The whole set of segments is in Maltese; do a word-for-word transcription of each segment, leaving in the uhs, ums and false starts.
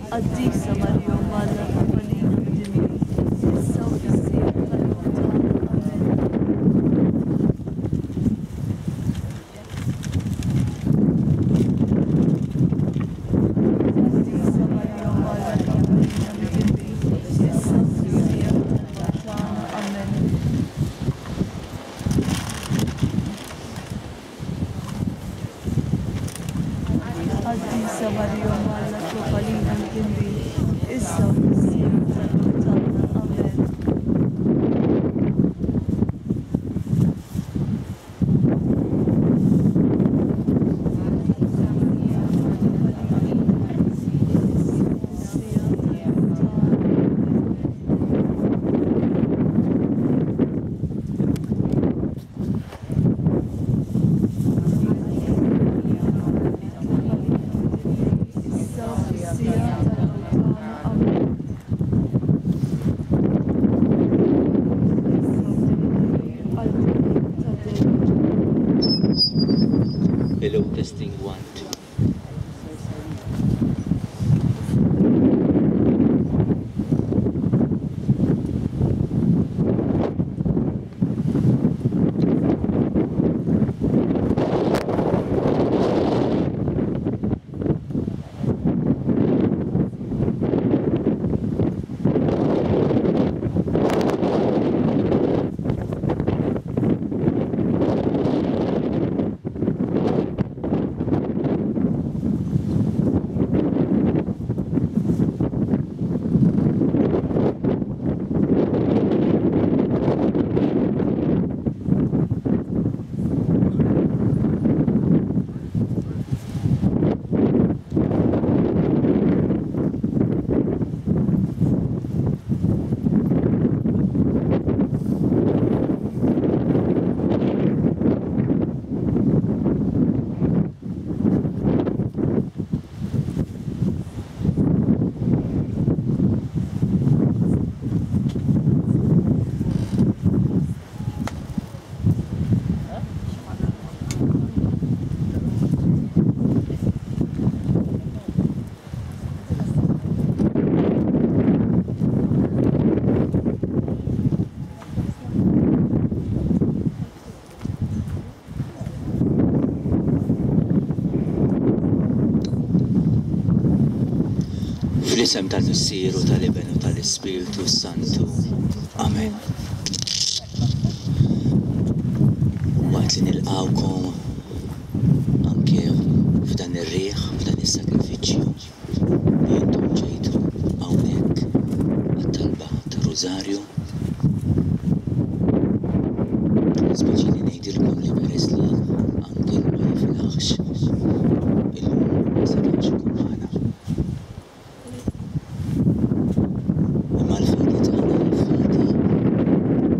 Qaddisa Marija Omm Alla, itlob għalina midinbin, issa u fis-siegħa tal-mewt tagħna. Amen. Qaddisa Marija Omm Alla, itlob għalina midinbin, issa u fis-siegħa tal-mewt tagħna. Amen. Qaddisa Marija Omm Alla, itlob għalina midinbin, issa u fis-siegħa tal-mewt tagħna. Amen. Fis-siegħa tal-mewt tagħna. Issa u fis-siegħa tal-mewt tagħna. Amen. Għal dejjem ta' dejjem. Hello, testing one, two. Fl-isem tal-Missier u tal-Iben u tal-Ispirtu Santu. Amen. Waqt li nilqawkom anke f'dan ir-riħ, f'dan is-sagrifiċċju li intom ġejtu hawnhekk għat-talba tar-Rużarju. Speċi li ngħidilkom li peress li Angel ma jiflaħx illum ma setax ikun magħna. Imma l-fidi tagħna hi fidi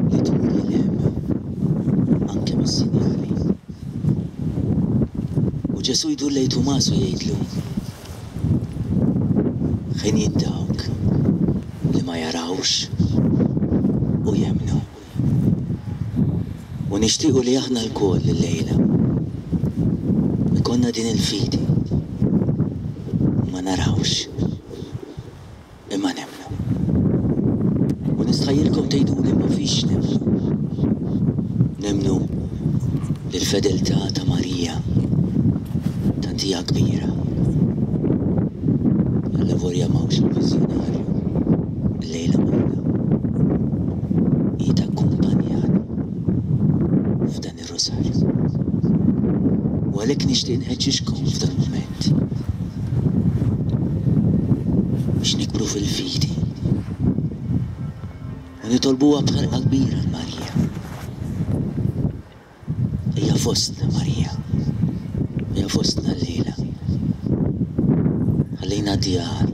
li tmur lil hemm anke mis-sinjali. U Ġesu jdur lejn Tumas u jgħidlu: Ħenjin dawk li ma jarawx u jemmnu. U nixtiequ li aħna lkoll illejla ikollna din il-fidi ma narawx imma nemmnu. U nistħajjilkom tgħiduli ma fiex nemmnu. Nemmnu li l-fedeltà ta' Marija tant hija kbira. Allavolja m'hawnx il-viżjonarju llejla magħna. Hi takkumpanjana f'dan ir-Rużarju. U għalhekk nixtieq nħeġġiġkom f'dan il-mument biex nikbru fil-fidi u nitolbuha b'ħerqa kbira l Marija. Hija fostna Marija, hija fostna llejla. Ħallejna d-djar,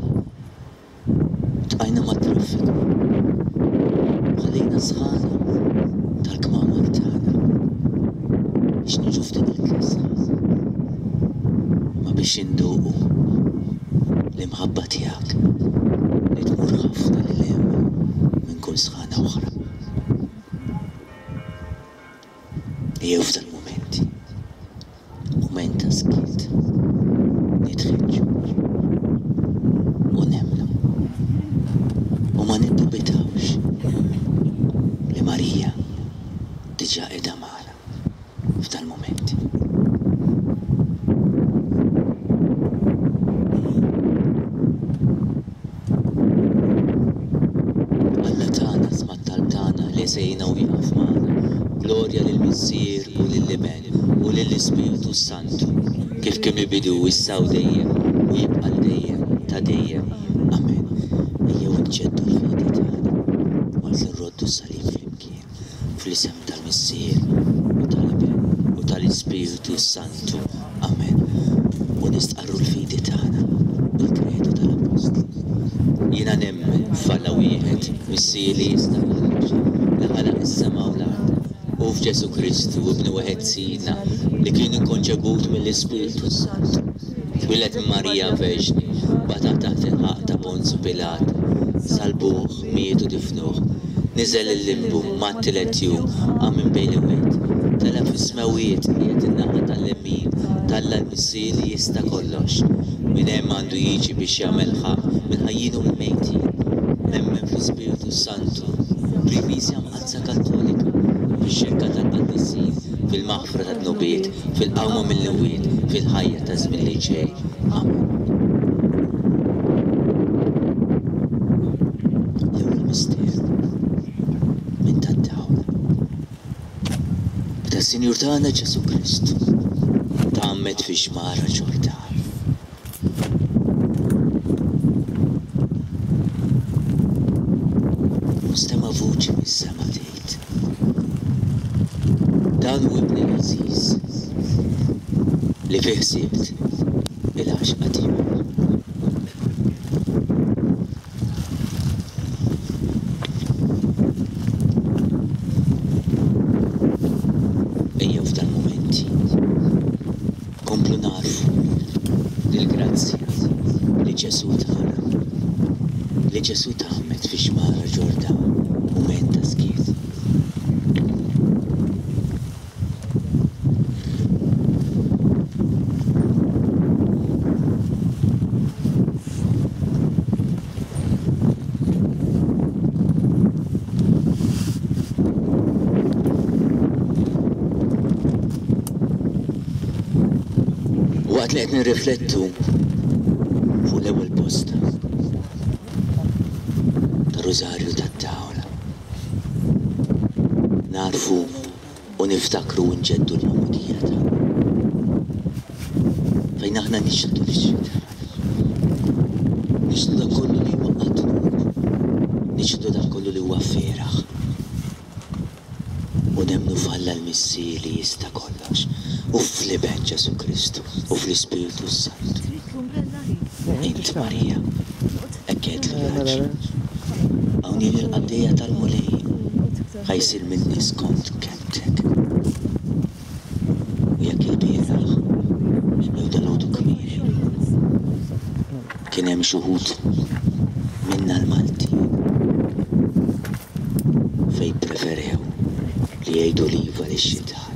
tqajna mat-traffiku, ħallejna sħana tal-kmamar tagħna biex niġu f'din il-kesħa, ma biex induqu l-imħabba tiegħek li tmur ħafna lil hemm minn kull sħana oħra. Ejjew f'dan il-mument, mument ta' skiet, nitħeġġu u nemmnu. se jgħinna u jieqaf magħna. Glorja lill-Missier u lill-Iben u lill-Ispirtu Santu, kif kien mill-bidu issa u dejjem u jibqa' l dejjem ta' dejjem. Amen. Ejjew nġeddu l-fidi tagħna waqt li nroddu s-salib flimkien fl-isem tal-Missier u tal-Iben u tal-Ispirtu Santu. Amen. U nistqarru l-fidi tagħna, il-kredu tal-Appostli. Jiena nemmen f'Alla wieħed, Missier li jista' kollox, li ħalaq is-sema u l-art, u f'Ġesù Kristu, Ibnu wieħed Sidna, li kien inkonċebut mill-Ispirtu Santu. Twieled minn Marija Verġni, bata taħt il-ħakma ta' Ponzu Pilat, salbuh, miet u difnuh, niżel il-limbu, mat-tielet jum, qam minn bejn l-imwiet, tela' fis-smewiet, qiegħed in-naħa tal-lemin t'Alla l-Missier li jista' kollox. Minn hemm għandu jiġi biex jagħmel ħaqq mill-ħajjin u mill-mejtin. Nemmen fl-Ispirtu Santu, fil-Knisja Mqaddsa Kattolika, fix-xirka tal-qaddisin, fil-maħfra tad-dnubiet, fil-qawma mill-imwiet, fil-ħajja ta' żmien li ġej. Amen. L-ewwel misteru minn tad-dawl. Meta s-Sinjur tagħna Ġesù Kristu tgħammed fi xmara Ġordan. Stema' vuċi mis-sema tgħid: Dan hu ibni l-għażiż li fih sibt il-għaxqa tiegħi. Ejjew f'dan mumenti komplu narfu dil-grazzja li Ġesù tana, li Ġesù tgħammed fi xmara Ġordan, mument ta' skiet. Waqt li qed nirriflettu fuq l-ewwel posta ta' Rużarju tad-Dawl, narfu u niftakru u nġeddu l-magħmudija tagħna fejn aħna nixhdu lix-xitan, nixhdu dak kollu li huwa dnub, nixhdu dak kollu li huwa feraħ, u nemmnu f'Alla l-Missier li jista' kollox, u fl-Iben Ġesù Kristu u fl-Ispirtu Santu. Int Marija, hekk għedtlu l-anġlu, hawn jien il-qaddejja tal-Mulej, ħa jsir minni skont kelmtek. U jekk il-bieraħ jew dalgħodu kmieni kien hemm xi wħud minna l-Maltin fejn preferew li jgħidu l-iva lix-xitan,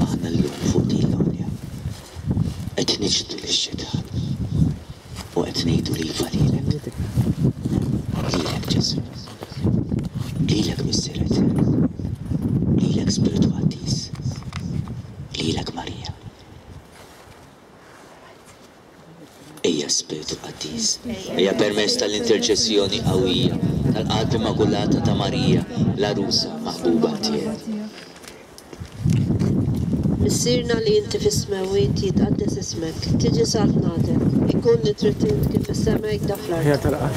aħna llum fuq din l-għolja qed niċħdu lix-xitan u qed ngħidu l-iva lilek, lilek Ġesù, lilek Missier Etern, lilek Spiritu Qaddis, lilek Marija. Ejja Spiritu Qaddis, ejja permezz tal-interċessjoni qawwija tal-Qalb Immakulata ta' Marija, l-għarusa maħbuba tiegħek. Missierna li inti fis-smewwiet, jitqaddes ismek, tiġi saltnatek, ikun li trid int kif fis-sema hekk fl-art. Ħija tal-qax.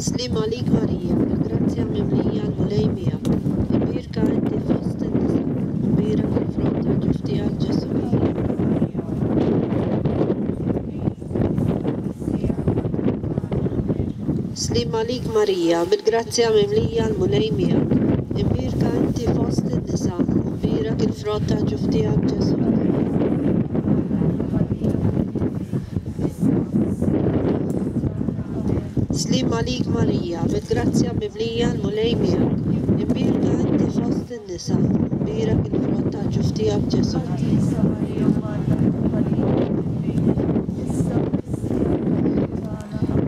Sliem għalik Marija, bil-grazzja mimlija l-Mulej miegħek, imbierka inti fost in-nisa, imbierek il-frott ta' ġuf tiegħek Ġesù. Sliem għalik Marija, bil-grazzja mimlija l-Mulej miegħek, imbierka inti fost in-nisa, imbierek il-frott ta' ġuf tiegħek Ġesù. Sliem għalik Marija, bil-grazzja mimlija l-Mulej miegħek, imbierka inti fost in-nisa, imbierek il-frott ta' ġuf tiegħek Ġesù.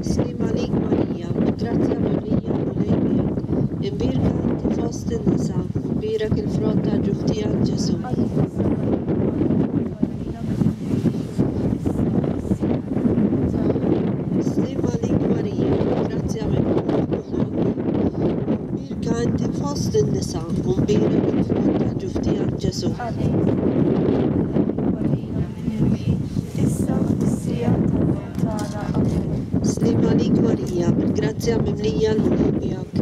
Sliem għalik Marija, bil-grazzja mimlija l-Mulej miegħek, imbierka inti fost in-nisa, imbierek il-frott ta' ġuf tiegħek Ġesù. fost in-nisa, u mbierek il-frott ta' ġuf tiegħek Ġesù. Sliem għalik Marija, bil-grazzja mimlija l-Mulej miegħek.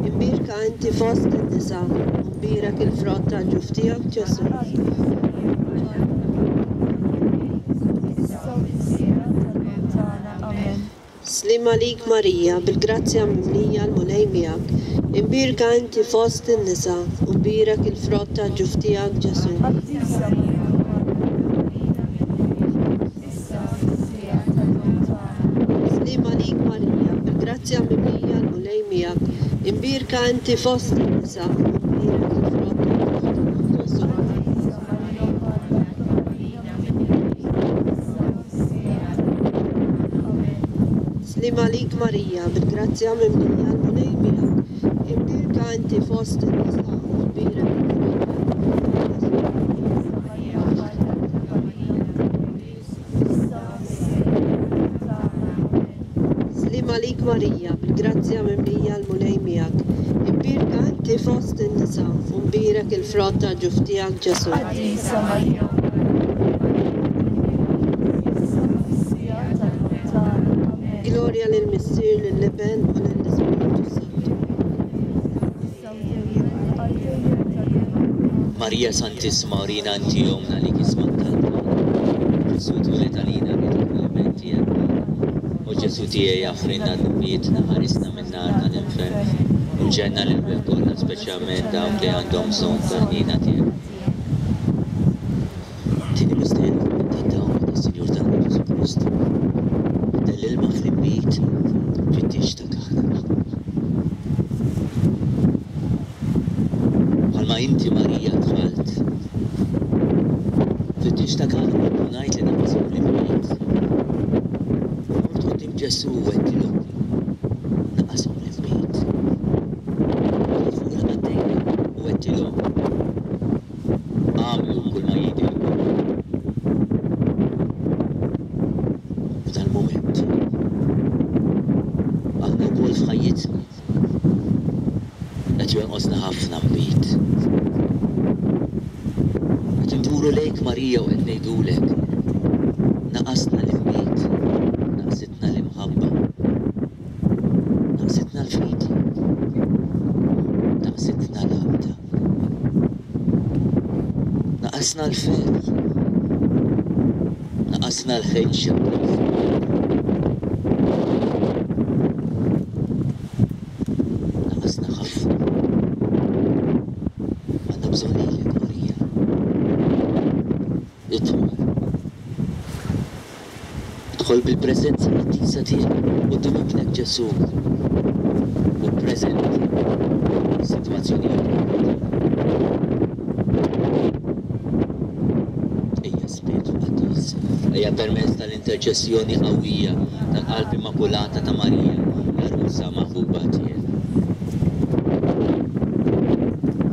Imbierka inti fost in-nisa, u mbierek il-frott ta' ġuf tiegħek Ġesù. Sliem għalik Marija, bil-grazzja mimlija l-Mulej miegħek. Imbierka inti fost in-nisa, u mbierek il-frott ta' ġuf tiegħek Ġesù. Sliem għalik Marija, bil-grazzja mimlija l-Mulej miegħek. Imbierka inti fost in-nisa, u mbierek il-frott ta' ġuf tiegħek Ġesù. Sliem għalik Marija, bil-grazzja mimlija l-Mulej miegħek. Imbierka inti fost in-nisa, u mbierek il-frott ta' ġuf tiegħek Ġesù. Sliem għalik Marija, bil-grazzja mimlija l-Mulej miegħek. Imbierka inti fost in-nisa, u mbierek il-frott ta' ġuf tiegħek Ġesù. Glorja lill-Missier, lill-Iben u lill-Ispirtu Santu. Marija Santissima, urina inti ommna li kisma talba. Ġesù twieled għalina li l-iben tiegħek. O Ġesù tiegħi aħfrilna dnubietna, ħarisna min-nar tal-infern u ġenna lil kollha, speċjalment dawk li għandhom bżonn tal-ħniena tiegħek. Tieni misteru tad-dawl tas-Sinjur tagħna Ġesù Kristu. Biddel l-ilma fl-inbid fit-tieġ ta' Kana. Bħalma inti Marija dħalt fit-tieġ ta' Kana u ngħid li naqashom l-inbid. Mort quddiem Ġesù u għedtilhom naqashom l-inbid. Fuq il-qaddejja u għedtilhom għamlu kull ma jgħidilkom. F'dal mument aħna wkoll f'ħajjitna qed jonqosna ħafna nbid. Qed induru lejk Marija u qed ngħidulek naqasna l-inbid, naqsitna l-imħabba, naqsitna l-fidi, naqsitna l-għaqda, naqasna l-ferħ, naqasna l-ħeġġa. Naqasna ħafna. Għandna bżonn lilek Marija. Idħol. Idħol bil-preżenza qaddisa tiegħek quddiem ibnek Ġesù u ppreżenta s-sitwazzjonijiet kollha. Ejja Spiritu Qaddis, ejja permezz tal-interċessjoni qawwija tal-Qalb Immakulata ta' Marija, l-għarusa maħbuba tiegħek.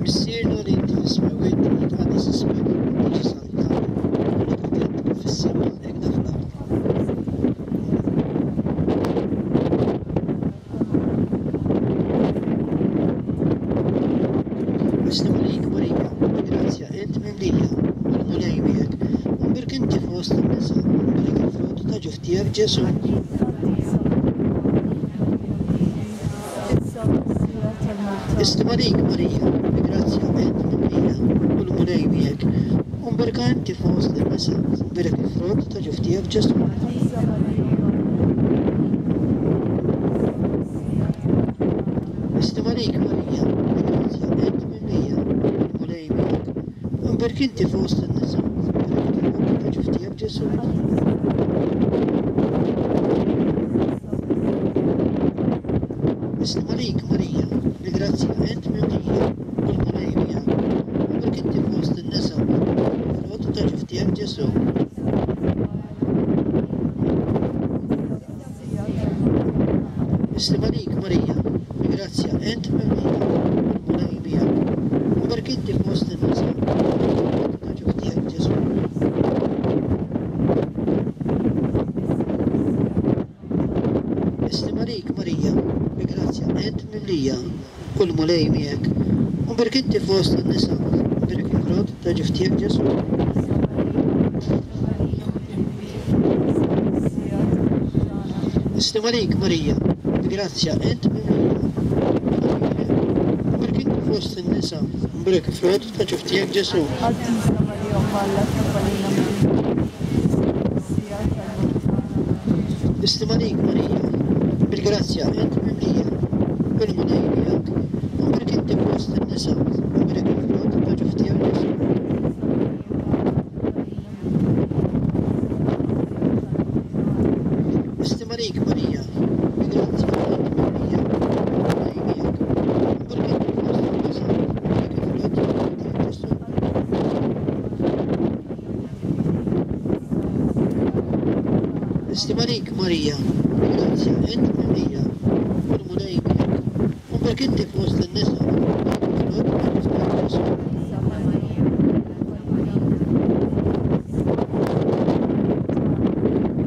Missierna li inti fis-smewwiet, jitqaddes ismek, tiġi saltnatek, tkun kif fis-sema hekk fl-art. Sliem għalik Marija, bil-grazzja int mimlija, u l-Mulej miegħek, u mbierek inti fost in-nisa, u mbierek il-frott ta' ġuf tiegħek Ġesù. Sliem għalik Marija, bil-grazzja int mimlija, u l-Mulej miegħek, u mbierka inti fost in-nisa, u mbierek il-frott ta' ġuf tiegħek Ġesù. Sliem għalik Marija, bil-grazzja int mimlija, u l-Mulej miegħek, u mbierek inti fost in-nisa, u mbierek il-frott ta' ġuf tiegħek Ġesù. Sliem għalik Marija, bil-grazzja int mimlija, u l-Mulej miegħek, u mbierek inti fost in-nisa, u mbierek il-frott ta' ġuf tiegħek Ġesù. Sliem għalik Marija, bil-grazzja int mimlija, u l-Mulej miegħek, u mbierek inti fost in-nisa, u mbierek il-frott ta' ġuf tiegħek Ġesù. Sliem għalik Marija, bil-grazzja int mimlija, u l-Mulej miegħek, U mbierek inti fost in-nisa, u mbierek il-frott ta' ġuf tiegħek Ġesù. Islima għalik Marija, bil-grazzja int mimlija. U mbierek inti fost in-nisa, u mbierek il-frott ta' ġuf tiegħek Ġesù. Qaddisa Marija Omm Alla, itlob għalina midinbin, issa u fis-siegħa tal-mewt tagħna. Amen. Islima għalik Marija, bil-grazzja int mimlija, u l-Mulej miegħek, u mbierek inti fost in-nisa, u mbierek il-frott ta' ġuf tiegħek Ġesù. Islima għalik Marija, bil-grazzja int mimlija, u l-Mulej miegħek, u mbierek inti fost in-nisa, u mbierek il-frott ta' ġuf tiegħek Ġesù. Islima għalik Marija, bil-grazzja int mimlija, u l-Mulej miegħek, u mbierek inti fost in-nisa, u mbierek il-frott ta' ġuf tiegħek Ġesù.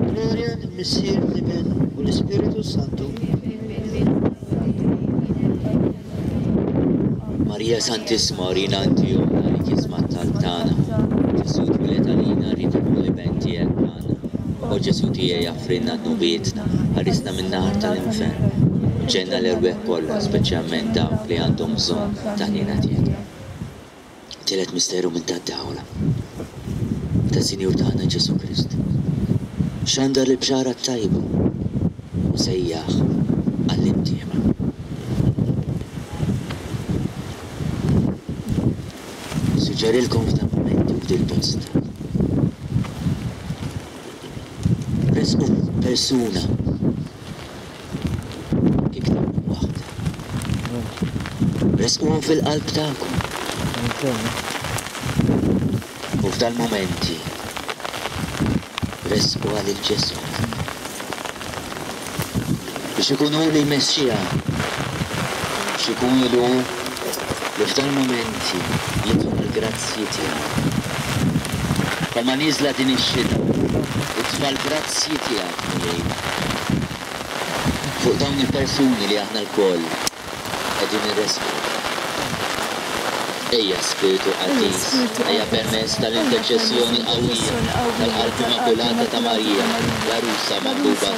Gloria lill-Missier, l-Iben u l-Ispiritu Santu. Marija Santissima, urina inti ommna li tisma' t-talb tagħna. Ġesù twieled għalina, rrid ikun l-Iben tiegħek magħna. O Ġesù tiegħi, offrilna dnubietna, ħarisna min-nar tal-infern. U ġenna l-erwieħ kollha, speċjalment dawk li għandhom bżonn ta' ħniena tiegħek. Tielet misteru minn tad-dawla ta' Sinjur tagħna Ġesù Kristu. Xandar l-bxara t-tajba u sejjaħ għall-imtiema. Suġġerilkom f'dan momenti u f'dil post. Resqu persuna iktar minn waħda. Resquhom fil-qalb tagħkom. U f'dal momenti resqu għal il-Ġesù biex ikun hu li jmexxiha, biex ikun hu li f'dal momenti jitlob il-grazzji tiegħu. Palma nieżla din ix-xita, itfa' l-grazzji tiegħek, Mulej, fuq dawn il-persuni li aħna lkoll qegħdin irresqu. Ejja Spiritu Qaddis, ejja permezz tal-interċessjoni qawwija tal-Qalb Immakulata ta' Marija, l-għarusa maħbuba.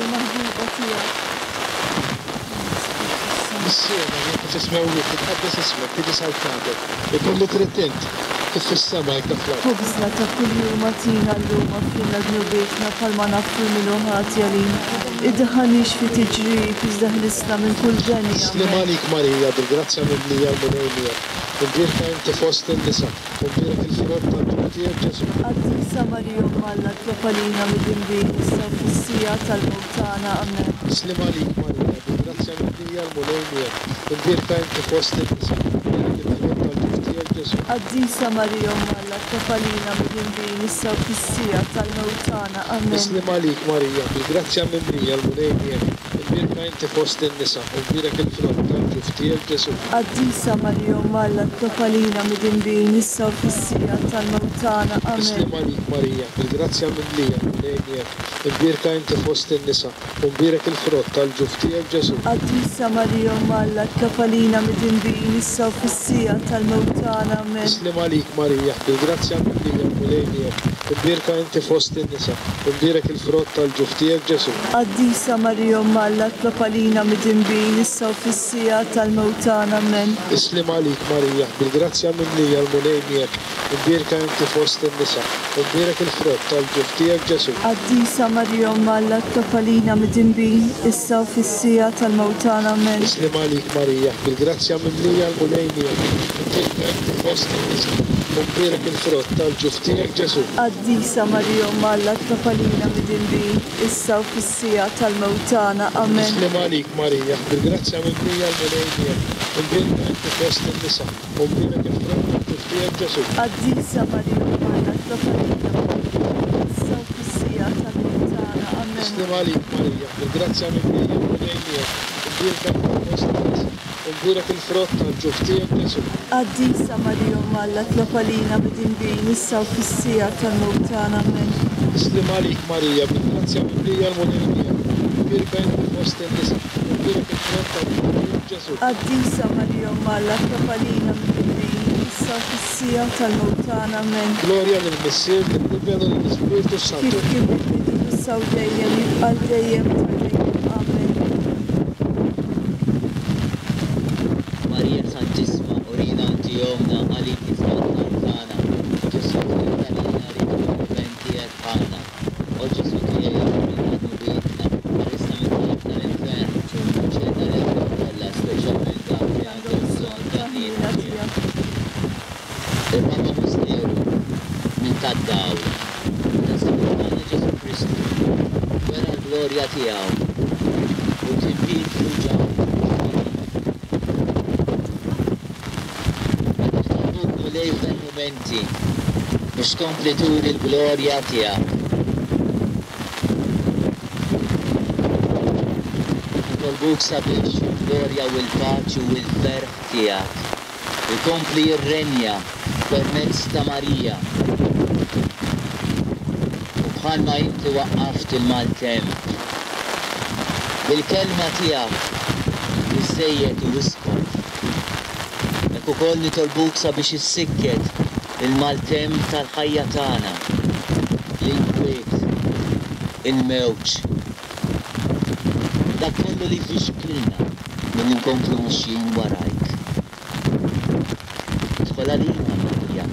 Missierna li inti fis-smewwiet, titqaddes ismek, tiġi saltnatek, ikun li trid int, kif fis-sema hekk fl-art. Ħobżna ta' kuljum agħtina llum, aghfrilna dnubietna bħalma naghfru min hu ħati għalina. Iddaħħalniex fi tiġrib, iżda ħlisna minn kull deni. Sliem għalik Marija, bil-grazzja mimlija l-Mulej miegħek. Imbierka inti fost in-nisa, u mbierek il-frott tal-ġuf tiegħek Ġesù. Qaddisa Marija Omm Alla, itlob għalina midinbin, issa u fis-siegħa tal-mewt tagħna. Amen. Sliem għalik Marija, bil-grazzja mimlija l-Mulej miegħek. Imbierka inti fost in-nisa, u mbierek il-frott tal-ġuf tiegħek Ġesù. Qaddisa Marija Omm Alla, itlob għalina midinbin, issa u fis-siegħa tal-mewt tagħna. Amen. Sliem għalik Marija, bil-grazzja mimlija l-Mulej miegħek. Imbierka inti fost in-nisa, u mbierek il-frott tal-ġuf tiegħek Ġesù. Qaddisa Marija Omm Alla, itlob għalina midinbin, issa u fis-siegħa tal-mewt tagħna. Amen. Sliem għalik Marija, bil-grazzja mimlija l-Mulej miegħek. Imbierka inti fost in-nisa, u mbierek il-frott tal-ġuf tiegħek Ġesù. Qaddisa Marija Omm Alla, itlob għalina midinbin, issa u fis-siegħa tal-mewt tagħna. Amen. Sliem għalik Marija, bil-grazzja mimlija l-Mulej miegħek. Imbierka inti fost in-nisa, u mbierek il-frott tal-ġuf tiegħek Ġesù. Qaddisa Marija Omm Alla, itlob għalina midinbin, issa u fis-siegħa tal-mewt tagħna. Amen. Sliem għalik Marija, bil-grazzja mimlija l-Mulej miegħek. Imbierka inti fost in-nisa, u mbierek il-frott tal-ġuf tiegħek Ġesù. Qaddisa Marija Omm Alla, itlob għalina midinbin, issa u fis-siegħa tal-mewt tagħna. Amen. Sliem għalik Marija, bil-grazzja mimlija l-Mulej miegħek. Imbierka inti fost in-nisa, u mbierek il-frott tal-ġuf tiegħek Ġesù. Qaddisa Marija Omm Alla, itlob għalina midinbin, issa u fis-siegħa tal-mewt tagħna. Amen. Sliem għalik Marija, bil-grazzja mimlija l-Mulej miegħek. Imbierka inti fost in-nisa, u mbierek il-frott tal-ġuf tiegħek Ġesù. Qaddisa Marija Omm Alla, itlob għalina midinbin, issa u fis-siegħa tal-mewt tagħna. Amen. Sliem għalik Marija, bil-grazzja mimlija l-Mulej miegħek. Imbierka inti fost in-nisa, u mbierek il-frott tal-ġuf tiegħek Ġesù. Qaddisa Marija Omm Alla, itlob għalina midinbin, issa u fis-siegħa tal-mewt tagħna. Amen. Sliem għalik Marija, bil-grazzja mimlija l-Mulej miegħek. Imbierka inti fost in-nisa, u mbierek il-frott tal-ġuf tiegħek Ġesù. Qaddisa Marija Omm Alla, itlob għalina midinbin, issa u fis-siegħa tal-mewt tagħna. Amen. Glorja lill-Missier, lill-Iben u lill-Ispirtu Santu. Kif kien fil-bidu, issa u dejjem, jibqa' dejjem ta' dejjem. Amen. Marija Santissima, urina inti ommna għalik isma' tagħna. Ġesù twieled għalina rid ikun l-Iben tiegħek bħalna. O Ġesù tiegħi aħfrilna dnubietna, ħarisna min-nar tal-infern, u ġenna l-erwieħ kollha, speċjalment dawk li għandhom bżonn tal-ħniena tiegħek. Ir-raba' misteru minn tad-dawl ta' Salvatur tagħna Ġesù Kristu wera l-glorja tiegħu u kien Pietru Ġakbu Nitolbuk Mulej f'dan mumenti biex tkompli turi l-glorja tiegħek. Nitolbuk sabiex il-glorja u l-paċi u l-ferħ tiegħek ikompli jirrenja permezz ta' Marija. U bħalma inti waqqaft il-maltemp bil-kelma tiegħek li żejjed u iskot. Hekk ukoll nitolbuk sabiex issikket il-maltemp tal-ħajja tagħna, l-inkwiet, il-mewġ, dak kollu li jfixkilna milli nkomplu mixjin warajk. Idħol għalina Marija,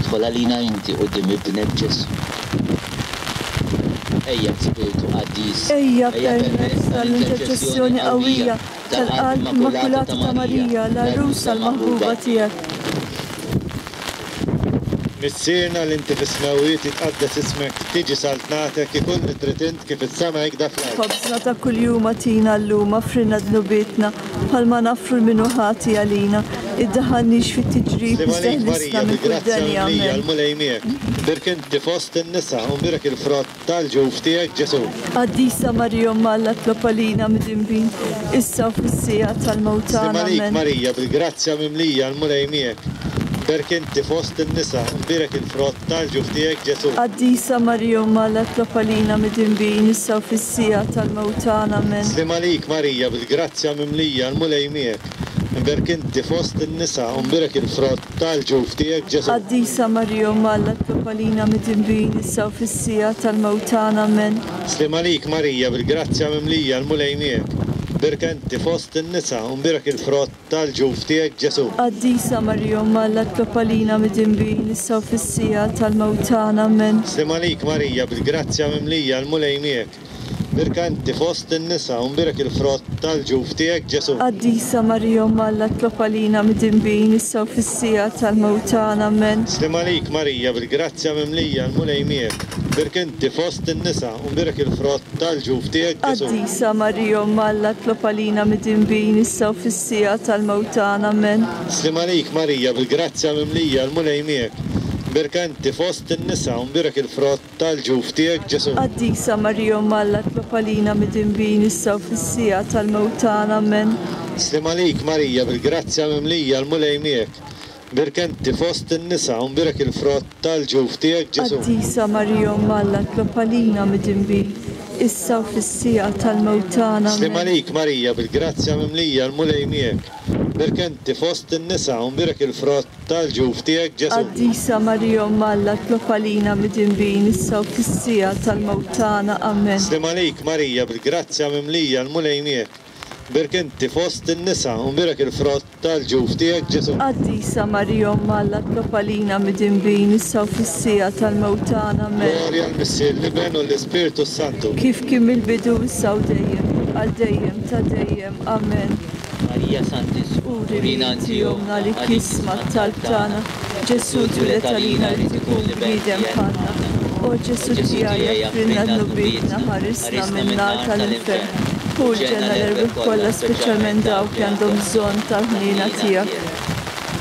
idħol għalina inti quddiem ibnek Ġesù. Ejja Spiritu Qaddis, Ejja permezz tal-interċessjoni qawwija tal-Qalb Immakulata ta' Marija, l-għarusa l-maħbuba tiegħek. Missierna li inti fis-smewwiet jitqaddes ismek, tiġi saltnatek, ikun li trid int kif is-sema hekk fl-art. Ħobżna ta' kuljum agħtina llum, aħfrilna dnubietna bħalma naħfru lil min hu ħati għalina. Iddaħħalniex fit-tiġrib, Sliem għalik iżda Marija, ħlisna minn kull bil-grazzja deni. mimlija, Amen. l-Mulej miegħek. Imbierka inti fost in-nisa u mbierek il-frott tal-ġuf tiegħek Ġesù. Qaddisa Marija Omm Alla, itlob għalina midinbin, issa u fis-siegħa tal-mewt Sliem tagħna. għalik Amen. Marija, bil-grazzja mimlija, l-Mulej miegħek. Imbierka inti fost in-nisa u mbierek il-frott tal-ġuf tiegħek Ġesù. Qaddisa Marija Omm Alla, itlob għalina midinbin, issa u fis-siegħa tal-mewt tagħna. Amen. Sliem għalik Marija, bil-grazzja mimlija, l-Mulej miegħek. Imbierka inti fost in-nisa u mbierek il-frott tal-ġuf tiegħek Ġesù. Qaddisa Marija Omm Alla, itlob għalina midinbin, issa u fis-siegħa tal-mewt tagħna. Amen. Sliem għalik Marija, bil-grazzja mimlija, l-Mulej miegħek. Imbierka inti fost in-nisa u mbierek il-frott tal-ġuf tiegħek Ġesù. Qaddisa Marija Omm Alla, itlob għalina midinbin, issa u fis-siegħa tal-mewt tagħna. Amen. Sliem għalik Marija, bil-grazzja mimlija, l-Mulej miegħek. Imbierka inti fost in-nisa u mbierek il-frott tal-ġuf tiegħek Ġesù. Qaddisa Marija Omm Alla, itlob għalina midinbin, issa u fis-siegħa tal-mewt tagħna. Amen. Sliem għalik Marija, bil-grazzja mimlija, l-Mulej miegħek. Imbierka inti fost in-nisa u mbierek il-frott tal-ġuf tiegħek Ġesù. Qaddisa Marija Omm Alla, itlob għalina midinbin, issa u fis-siegħa tal-mewt tagħna. Amen. Sliem għalik Marija, bil-grazzja mimlija, l-Mulej miegħek. Imbierka inti fost in-nisa u mbierek il-frott tal-ġuf tiegħek Ġesù. Qaddisa Marija Omm Alla, itlob għalina midinbin, issa u fis-siegħa tal-mewt tagħna. Amen. Sliem għalik Marija, bil-grazzja mimlija, l-Mulej miegħek. Imbierka inti fost in-nisa u mbierek il-frott tal-ġuf tiegħek Ġesù. Qaddisa Marija Omm Alla, itlob għalina midinbin, issa u fis-siegħa tal-mewt tagħna. Sliem Amen. għalik Marija, bil-grazzja mimlija, l-Mulej miegħek. Imbierka inti fost in-nisa u mbierek il-frott tal-ġuf tiegħek Ġesù. Qaddisa Marija Omm Alla, itlob għalina midinbin, issa u fis-siegħa tal-mewt tagħna. Amen. Sliem għalik Marija, bil-grazzja mimlija, l-Mulej miegħek. Imbierka inti fost in-nisa u mbierek il-frott tal-ġuf tiegħek Ġesù. Qaddisa Marija Omm Alla, itlob għalina midinbin, issa u fis-siegħa tal-mewt tagħna. Amen. Glorja l-Missier, l-Iben u l-Ispirtu Santu. Kif kien mill-bidu, issa u dejjem, għal dejjem ta' dejjem. Amen. Marija Santissima, Uri urina inti inti ommna li kisma t-talb tagħna. Ġesù twieled għalina rid ikun bniedem bħalna. O Ġesù tiegħi, aħfrilna dnubietna, ħarisna min-nar tal-infern. Ħu l-ġenna l-erwieħ kollha, speċjalment dawk li għandhom bżonn tal-ħniena tiegħek.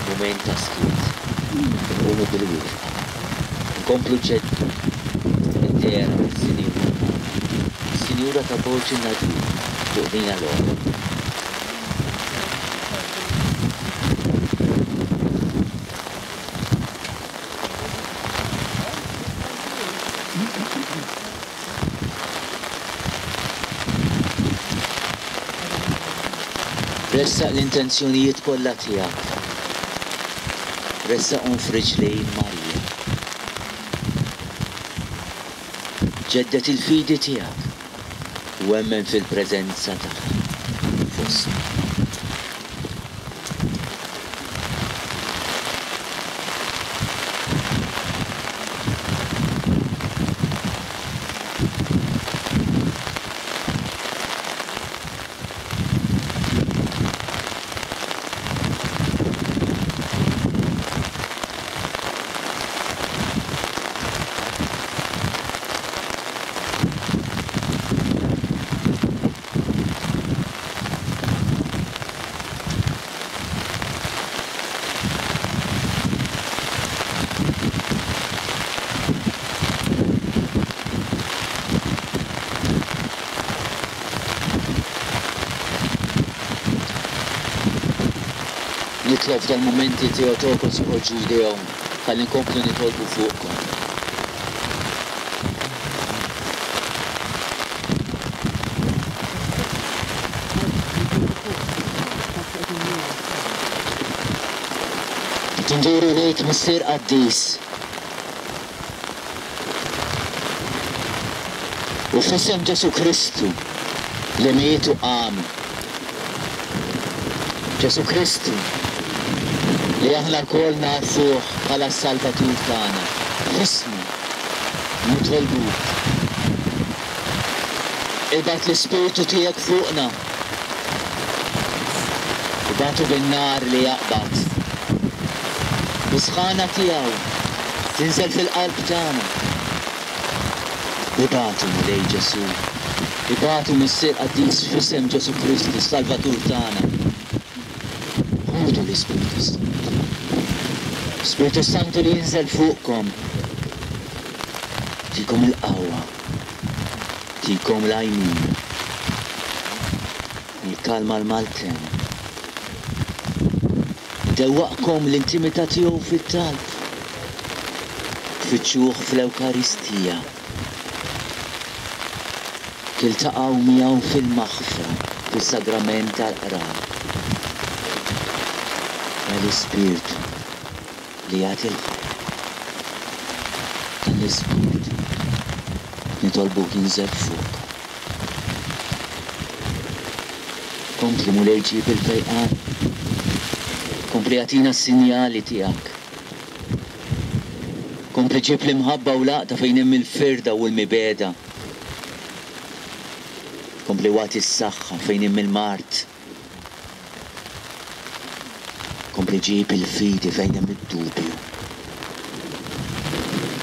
Mument ta' skiet. Nqumu bil-wieqfa. Nkomplu ġeddu. Id-dehra tas-Sinjura. Sinjura ta' Borġ in-Nadur fuq din l-għola. Ressaq l-intenzjonijiet kollha tiegħek. Ressaqhom f'riġlejn Marija. Ġeddet il-fidi tiegħek u emmen fil-preżenza tagħha fostna. Nitlob f'dal-mumenti Theotokos joħorġu jdejhom ħalli nkomplu nitolbu fuqkom. Tinduru lejk Missier Qaddis. U f'isem Ġesù Kristu li miet u qam. Ġesù Kristu li aħna lkoll nafuh bħala s-Salvatur tagħna. F'ismu nitolbuk. Ibgħat l-Ispirtu tiegħek fuqna. Ibgħatu bin-nar li jaqbad. Bis-sħana tiegħu tinżel fil-qalb tagħna. Ibgħatu Mulej Ġesù. Ibgħatu Missier Qaddis f'isem Ġesù Kristu, s-Salvatur tagħna. Ħudu l-Ispirtu Santu. Spirtu Santu li jinżel fuqkom. Tikom il-qawwa. Tikom l-għajnuna. Il-kalma l-maltemp. Dewwaqkom l-intimità tiegħu fit-talb. Tfittxuh fl-Ewkaristija. Tiltaqgħu miegħu fil-maħfra, fis-sagrament tal-qrar. L-Ispirtu li jagħti l-ħajja. Dan l-Ispirtu nitolbuk jinżel fuq. Kompli Mulej ġib il-fejqan. Kompli jagħtina s-sinjali tiegħek. Kompli ġib l-imħabba u l-għaqda fejn hemm il-firda u l-mibegħda. Kompli wagħti s-saħħa fejn hemm il-mard. Kompli ġib il-fidi fejn hemm id-dubju.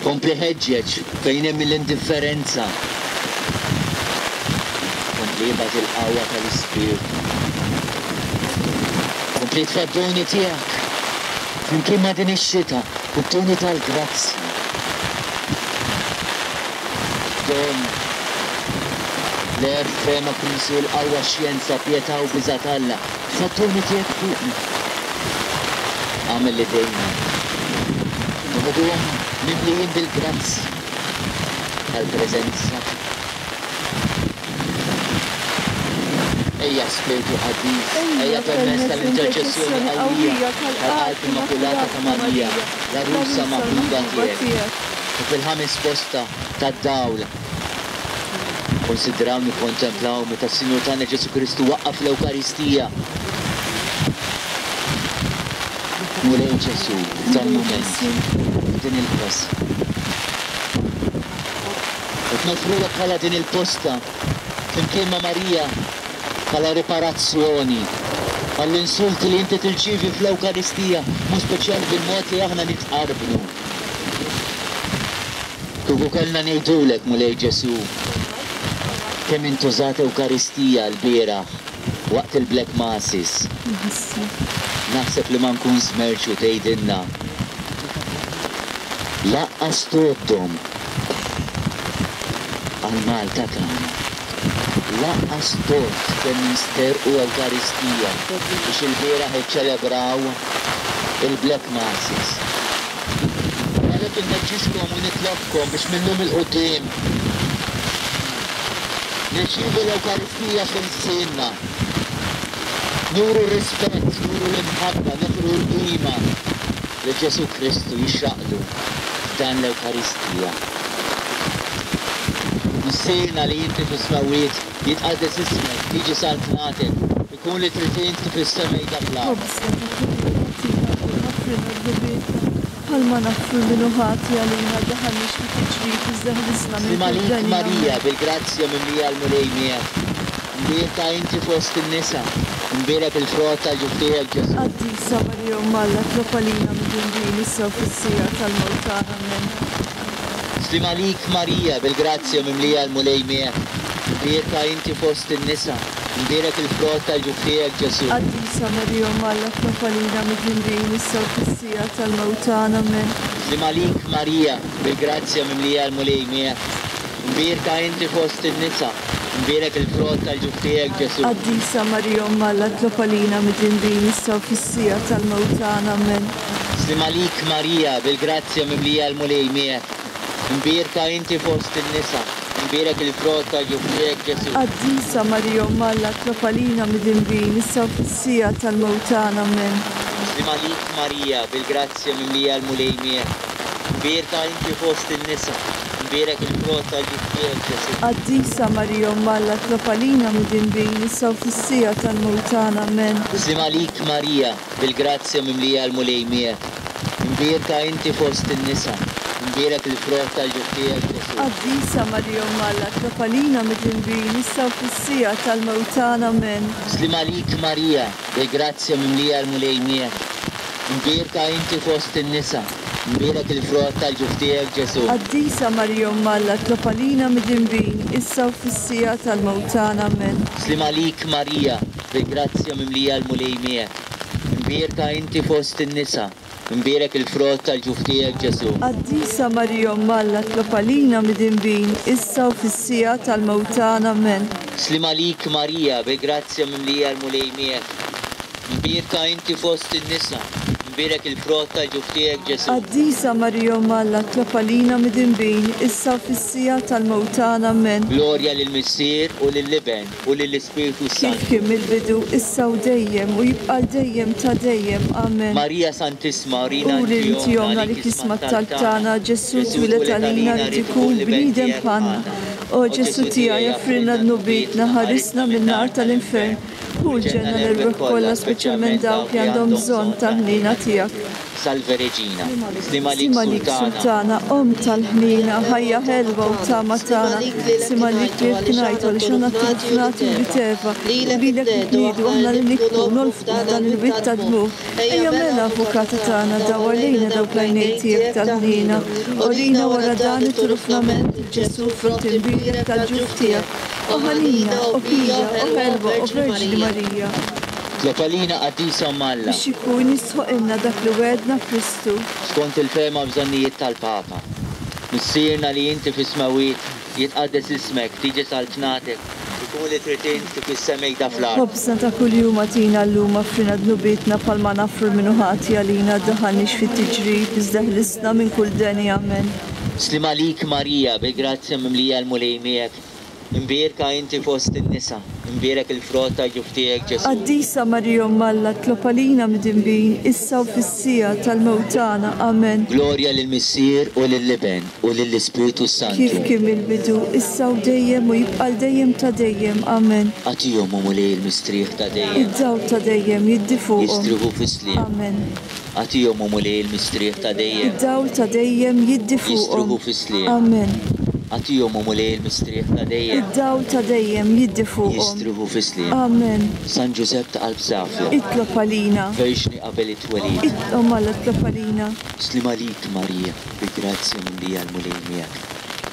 Kompli ħeġġeġ fejn hemm l-indifferenza. Kompli ibgħat il-qawwa tal-Ispirtu. Kompli tfa' d-doni tiegħek flimkien ma' din ix-xita u d-doni tal-grazzja. Don l-għerf, fehma, kunsill, qawwa, xjenza, pietà u biża' t'Alla. Tfa' d-doni tiegħek fuqna. Għamel li dejna noħoduhom mimlijin bil-grazzja tal-preżenza tiegħek. Ejja Spirtu Qaddis, ejja permezz tal-interċessjoni qawwija tal-Qalb Immakulata ta' Marija, l-għarusa maħbuba tiegħek. U fil-ħames posta tad-dawl konsidraw nikkontemplaw meta s-Sinjur tagħna Ġesù Kristu waqqaf l-Ewkaristija. Mulej Ġesù, f'dan mument, f'din il-posta. Qed nofrulek bħala din il-posta flimkien ma' Marija bħala riparazzjoni għall-insulti li inti tirċievi fl-Ewkaristija, mhux speċjali bil-mod li aħna nitqarbnu. Kieku kellna ngħidulek, Mulej Ġesù, kemm intużat Ewkaristija l-bieraħ waqt il-Black Masses. Naħseb li ma nkun żmerċu tgħidilna. Laqqas tgħoddhom għal Malta tagħna. Laqqas tgħodd kemm jinsterqu Ewkaristija biex il-bieraħ iċċelebraw il-Black Masses. Għalhekk inħeġġixkom u nitlobkom biex minnhom il-quddiem nirċievu l-Ewkaristija fil-lsienna. Nuru rispett, nuru l-imħabba, nuru l-qima. Li Ġesù Kristu jixraqlu f'dan l-Ewkaristija. Missierna li inti fis-smewwiet, jitqaddes ismek, tiġi saltnatek, ikun li trid inti fis-sema fl-art. Ħobżna ta' kuljum agħtina llum, aħfrilna dnubietna, bħalma naħfru min hu ħati għalina, ddaħħalniex fit-tiġrib, iżda ħlisna minn Sliem kull għalik deni. Marija, Amen. bil-grazzja mimlija l-Mulej miegħek. Imbierka inti fost in-nisa, imbierek il-frott tal-ġuf tiegħek Ġesù. Qaddisa Marija Omm Alla, itlob għalina midinbin, issa u fis-siegħa tal-mewt tagħna. Amen. Sliem għalik Marija, bil-grazzja mimlija l-Mulej miegħek. Imbierka inti fost in-nisa, imbierek il-frott tal-ġuf tiegħek Ġesù. Qaddisa Marija Omm Alla, itlob għalina midinbin, issa u fis-siegħa tal-mewt tagħna. Amen. Sliem għalik Marija, bil-grazzja mimlija l-Mulej miegħek. Imbierka inti fost in-nisa, imbierek il-frott tal-ġuf tiegħek Ġesù. Qaddisa Marija Omm Alla, itlob għalina midinbin, issa u fis-siegħa tal-mewt tagħna. Amen. Sliem għalik Marija, bil-grazzja mimlija l-Mulej miegħek. Imbierka inti fost in-nisa, imbierek il-frott tal-ġuf tiegħek Ġesù. Qaddisa Marija Omm Alla, itlob għalina midinbin, issa u fis-siegħa tal-mewt tagħna. Amen. Sliem għalik Marija, bil-grazzja mimlija l-Mulej miegħek. Imbierka inti fost in-nisa, imbierek il-frott tal-ġuf tiegħek Ġesù. Qaddisa Marija Omm Alla, itlob għalina midinbin, issa u fis-siegħa tal-mewt tagħna. Amen. Sliem għalik Marija, bil-grazzja mimlija l-Mulej miegħek. Imbierka inti fost in-nisa, imbierek il-frott tal-ġuf tiegħek Ġesù. Qaddisa Marija Omm Alla, itlob għalina midinbin, issa u fis-siegħa tal-mewt tagħna. Amen. Sliem għalik Marija, bil-grazzja mimlija l-Mulej miegħek. Imbierka inti fost in-nisa, imbierek il-frott tal-ġuf tiegħek Ġesù. Qaddisa Marija Omm Alla, itlob għalina midinbin, issa u fis-siegħa tal-mewt tagħna. Amen. Sliem għalik Marija, bil-grazzja mimlija l-Mulej miegħek. Imbierka inti fost in-nisa, imbierek il-frott tal-ġuf tiegħek Ġesù. Qaddisa Marija Omm Alla, itlob għalina midinbin, issa u fis-siegħa tal-mewt tagħna. Amen. Sliem għalik Marija, bil-grazzja mimlija l-Mulej miegħek. Imbierka inti fost in-nisa, imbierek il-frott tal-ġuf tiegħek Ġesù. Qaddisa Marija Omm Alla, itlob għalina midinbin, issa u fis-siegħa tal-mewt tagħna. Amen. Glorja lill-Missier u lill-Iben u lill-Ispirtu Kif Santu. kien mill-bidu, issa u dejjem, u jibqa' dejjem ta' dejjem. Amen. Marija Santissima, urina Uri inti inti ommna li kisma t-talb tagħna, Ġesù twieled għalina li ikun bniedem bħalna. O Ġesù tiegħi, aħfrilna dnubietna, ħarisna min-nar tal-infern. Ħu l-ġenna l-erwieħ kollha, speċjalment dawk li għandhom bżonn tal-ħniena tiegħek. Salve Regina, Sliem għalik Sliem għalik Sultana, Sultana, Omm tal-ħniena, ħajja ħelwa u tama tagħna. Sliem għalik li ngħidu għaliex aħna turfnati u Eva, u lilek nitniedu aħna li nibku nolfqu f'dan il-wied ta' dmugħ. Ejja mela avukata tagħna, dawwar lejna dawk l-għajnejn tiegħek tal-ħniena. Urina wara dan it-turufnament Ġesù frott imbierek tal-ġuf tiegħek. O ħanina, o pija, o ħelwa, o Verġni Marija. Itlob għalina qaddisa Omm Alla. Biex ikun jistħoqqilna dak li wegħedna Kristu. Skont il-fehma bżonnijiet tal-Papa. Missierna li inti fis-smewwiet, jitqaddes ismek, tiġi saltnatek, ikun li trid inti fis-sema fl-art. Ħobżna ta' kuljum agħtina llum, aħfrilna dnubietna bħalma naħfru min hu ħati għalina, ddaħħalniex fit-tiġrib, iżda ħlisna minn kull deni. Amen. Sliem għalik Marija, bil-grazzja mimlija l-Mulej miegħek. Imbierka inti fost in-nisa, imbierek il-frott tal-ġuf tiegħek Ġesù. Qaddisa Marija Omm Alla, itlob għalina midinbin, issa u fis-siegħa tal-mewt tagħna. Amen. Glorja lill-Missier u lill-Iben u lill-Ispirtu Santu. Kif kien mill-bidu, issa u dejjem u jibqa' dejjem ta' dejjem. Amen. Agħtihom o Mulej il-mistrieħ ta' dejjem. Id-dawl ta' dejjem jiddi fuqhom. Jistrieħu fis-sliem. Amen. Agħtihom o Mulej il-mistrieħ ta' dejjem. Id-dawl ta' dejjem jiddi fuqhom. Jistrieħu fis-sliem. Amen. Agħtihom o Mulej il-mistrieħ ta' dejjem. Id-dawl ta' dejjem jiddi fuqhom. Jistrieħu fis-sliem. Amen. San Ġużepp ta' qalb safja. Itlob għalina. Verġni qabel it-twelid. Omm Alla itlob għalina. Sliem għalik Marija, bi grazzja mimlija l-Mulej miegħek.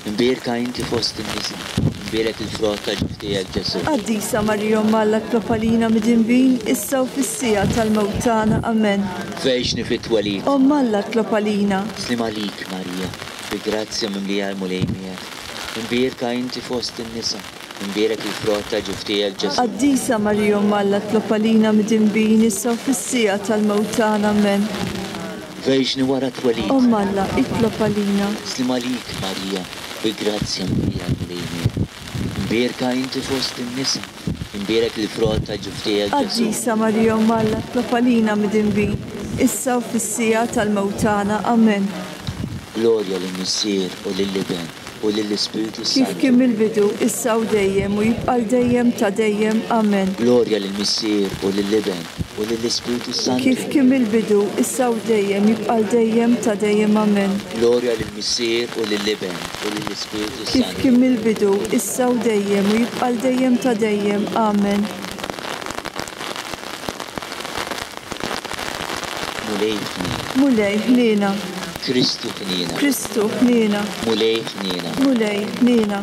Imbierka inti fost in-nisa, imbierek il-frott ta' ġuf tiegħek Ġesù. Qaddisa Marija Omm Alla, itlob għalina midinbin, issa u fis-siegħa tal-mewt tagħna. Amen. Verġni fit-twelid. Omm Alla itlob għalina. Sliem għalik Marija, bi grazzja mimlija l-Mulej miegħek. Imbierka inti fost in-nisa, imbierek il-frott ta' ġuf tiegħek Ġesù. Qaddisa Marija Omm Alla, itlob għalina midinbin, issa u fis-siegħa tal-mewt tagħna. Amen. Verġni wara twelid. Omm Alla, itlob għalina. Sliem għalik Marija, bi grazzja mimlija l-Mulej miegħek. Imbierka inti fost in-nisa, imbierek il-frott ta' ġuf tiegħek Ġesù. Qaddisa Marija Omm Alla, itlob għalina midinbin, issa u fis-siegħa tal-mewt tagħna. Amen. Glorja lill-Missier u lill-Iben u lill-Ispirtu Kif Santu. kien mill-bidu, issa u dejjem u jibqa' dejjem ta' dejjem. Amen. Glorja lill-Missier u lill-Iben u lill-Ispirtu Santu. Kif kien mill-bidu, issa u dejjem jibqa' dejjem ta' dejjem. Amen. Glorja lill-Missier u lill-Iben u lill-Ispirtu Kif Santu. kien mill-bidu, issa u dejjem u jibqa' dejjem ta' dejjem. Amen. Mulej ħniena. Mulej ħniena. Kristu ħniena. Kristu ħniena. Mulej ħniena. Mulej ħniena.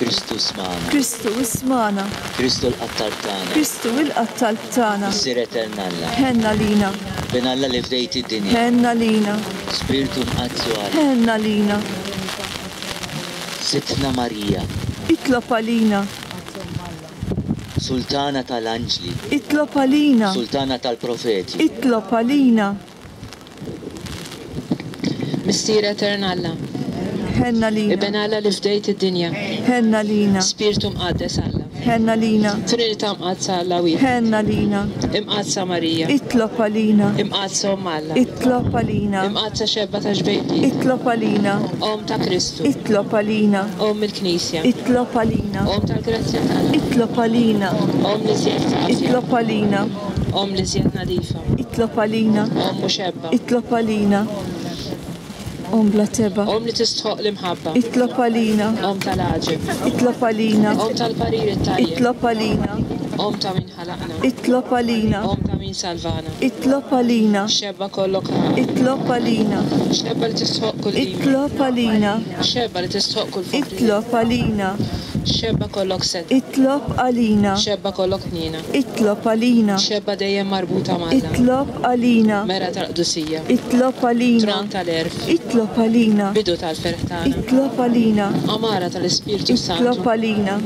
Kristu smana. Kristu ismana. Kristu l-qattar tagħna. Kristu il-qattal tagħna. Missier etern Alla. Ħenna lina. Bin Alla li fdejt id-dinja. Ħenna lina. Spiritu mqaddsu Alla. Ħenna lina. Sidtna Marija. Itlob għalina. Sultana tal-Anġli. Itlob għalina. Sultana tal-Profeti. Itlob għalina. Missier etern Alla. Ħenna lina. Iben Alla li fdejt id-dinja. Ħenna lina. Spiritu mqaddes Alla. Ħenna lina. Trinità mqaddsa Alla wieħed. Ħenna lina. Imqaddsa Marija. Itlob għalina. Imqaddsa Omm Alla. Itlob għalina. Imqaddsa xebba ta' xbejti. Itlob għalina. Omm ta' Kristu. Itlob għalina. Omm il-Knisja. Itlob għalina. Omm tal-grazzja t'Alla. Itlob għalina. Omm li żjed safja. Itlob għalina. Omm li żjed nadifa. Itlob għalina. Omm u xebba. Itlob għalina. Omm bla teba. Omm li tistħoq l-imħabba. Itlob għalina. Omm tal-għaġeb. Itlob għalina. Omm tal-parir it-tajjeb. Itlob għalina. Omm ta' min ħalaqna. Itlob għalina. Omm ta' min salvana. Itlob għalina. Xebba kollok ħaqq. Itlob għalina. Xebba li tistħoq kull qima. Itlob għalina. Xebba li tistħoq kull faħri. Itlob għalina. Xebba kollok sed. Itlob għalina. Xebba kollok ħniena. Itlob għalina. Xebba dejjem marbuta m'Alla. Itlob għalina. Mera tal-qdusija. Itlob għalina. Tron tal-erf. Itlob għalina. Bidu tal-ferħ tagħna. Itlob għalina. Amara tal-Ispirtu Itlob Santu. għalina.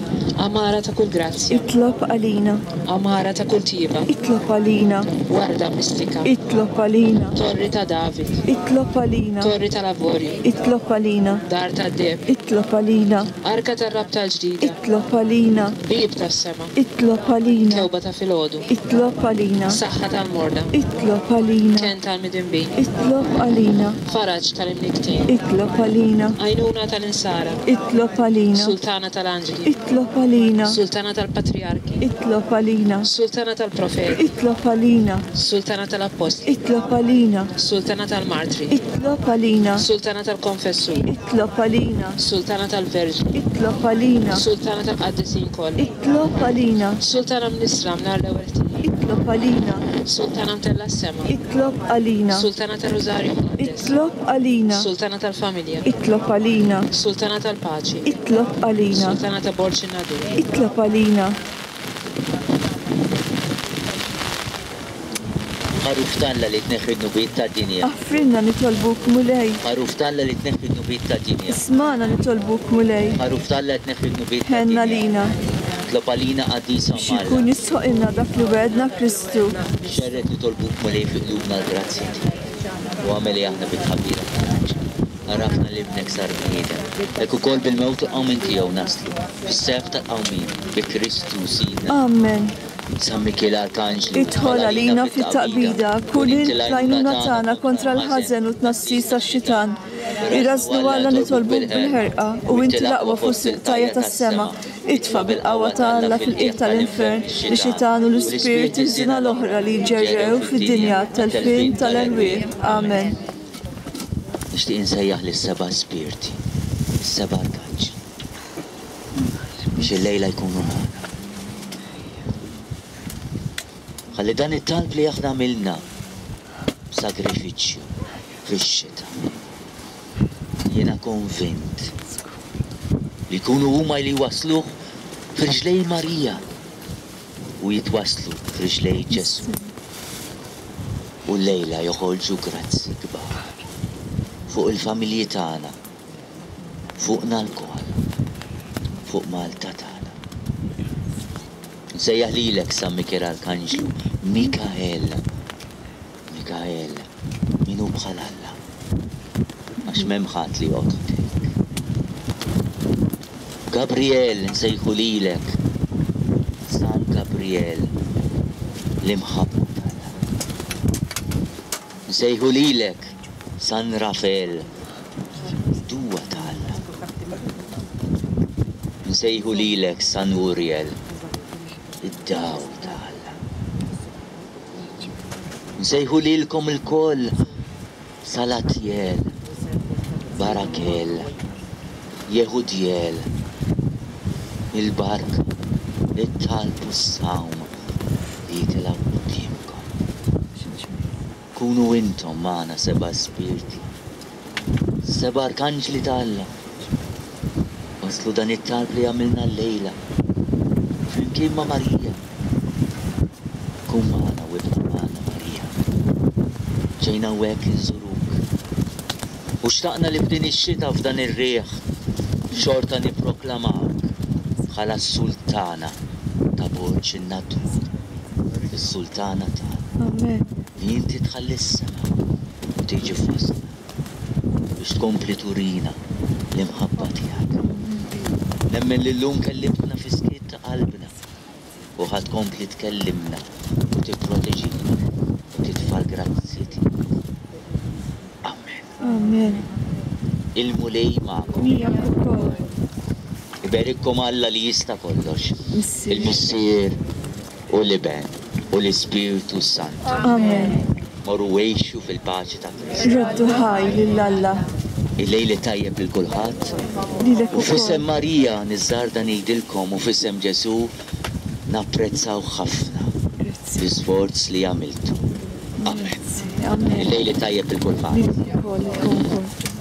Amara ta' kull grazzja. Itlob għalina. Amara ta' kull tiba. Itlob għalina. Warda mistika. Itlob għalina. Torri ta' David. Itlob għalina. Torri tal-Avorju. Itlob għalina. Dar tad-deb. Itlob għalina. Arka tar-rabta l-ġdida. Itlob għalina. Bib tas-sema. Itlob għalina. Kewba ta' filgħodu. Itlob għalina. Saħħa tal-morda. Itlob għalina. Ken tal-midinbin. Itlob għalina. Faraġ tal-imniktin. Itlob għalina. Għajnuna tal-insara. Itlob għalina. Sultana tal-anġli. Itlob għalina. Sultana tal-patriarki. Itlob għalina. Sultana tal-profeti. Itlob għalina. Sultana tal-appostli. Itlob għalina. Sultana tal-martri. Itlob għalina. Sultana tal-konfessur. Itlob għalina. Sultana tal-verġni. Itlob għalina. Sultana tal-qaddisin kollha. Itlob għalina. Sultana mnisra mnar l-ewwel tijiem. Itlob għalina. Sultana mtella s-sema. Itlob għalina. Sultana tal-Rużarju Mqaddes. Itlob għalina. Sultana tal-familja. Itlob għalina. Sultana tal-paċi. Itlob għalina. Sultana ta' Borġ in-Nadur. Itlob għalina. Ħaruf t'Alla li tneħħi d-dnubiet tad-dinja. Aħfrilna nitolbuk Mulej. Ħaruf t'Alla li tneħħi d-dnubiet tad-dinja. Ismana nitolbuk Mulej. Ħaruf t'Alla li tneħħi d-dnubiet Ħenna tad-dinja. lina. Itlob għalina qaddisa Biex Alla. ikun jistħoqilna dak li wegħedna Kristu. Xerred nitolbuk Mulej fi qlubna l-grazzja tiegħek. U agħmel li aħna bit-tħabbira tal-anġli. Għarafna li ibnek sar bniedem. Hekk ukoll bil-mewt u qawmien tiegħu naslu fis-sef tal-qawmien bi Kristu Sidna. Amen. San Mikiel Arkanġlu, Idħol għalina fit-taqbida, kun int l-għajnuna tagħna kontra l-ħażen u t-tnassis tax-xitan. Irrażnu Alla nitolbuk bil-ħerqa u inti l-aqwa fost il-qtajja tas-sema. Itfa' bil-qawwa ta' Alla fil-qiegħ tal-infern li xitan u l-ispirti żina l-oħra li ġerrew fid-dinja tal-fin tal-erwieħ. Amen. Nixtieq insejjaħ lis-seba' spirti, is-seba' arkanġli, biex il-lejla jkunu magħna. Ħalli dan it-talb li aħna għamilna b'sagrifiċċju fix-xita. Jiena konvint li jkunu huma li wasluh f'riġlej Marija u jitwaslu f'riġlej Ġesu. U l-lejla joħorġu grazzi kbar fuq il-familji tagħna, fuqna lkoll, fuq Malta tagħna. Nsejjaħ lilek San Mikiel Arkanġlu, Mikael, Mikael, min hu bħal Alla, għax m'hemm ħadd li joqgħod ħdejk. Gabriel, nsejħu lilek, San Gabriel, l-imħabba t'Alla. Nsejħu lilek San Rafael, duwa ta' Alla. Nsejħu lilek San Uriel, id-dawl ta' Alla. Nsejħu lilkom ilkoll Salatjel, Barakel, Jehudiel, il-barka, it-talb u s-sawm li jitilgħu quddiemkom. Kunu intom magħna seba' spirti, seba' arkanġli ta' Alla. Waslu dan it-talb li għamilna llejla, flimkien ma' Marija. Kun magħna u ibqa' magħna Marija. Ġejna hawnhekk inżuruk. U xtaqna li f'din ix-xita f'dan ir-riħ xorta nipproklamawk bħala s-sultana ta' Borġ in-Nadur, is-sultana tagħna. Amen. Li inti tħalli s-sema u tiġi fostna biex tkompli turina l-imħabba tiegħek. Nemmen li llum kellimtna fi skiet ta' qalbna u ħa tkompli tkellimna u tipproteġina u titfa' l-grazzji tiegħek. Amen. Amen. Il-Mulej magħkom. Miegħek ukoll. Iberikkom Alla li jista' kollox. Missier. Il-Missier u l-Iben u l-Ispirtu Santu. Amen. Morru għixu fil-paċi ta' Kristu. Roddu ħajr lil Alla. Il-lejl tajjeb lil kulħadd. Lilek U f'isem ukoll. Marija niżżarda ngħidilkom u f'isem Ġesù napprezzaw ħafna Grazzi. l-isforz li għamiltu. Amen. Grazzi. Amen. Il-lejl tajjeb lil kulħadd. Lilek ukoll, lilkom ukoll.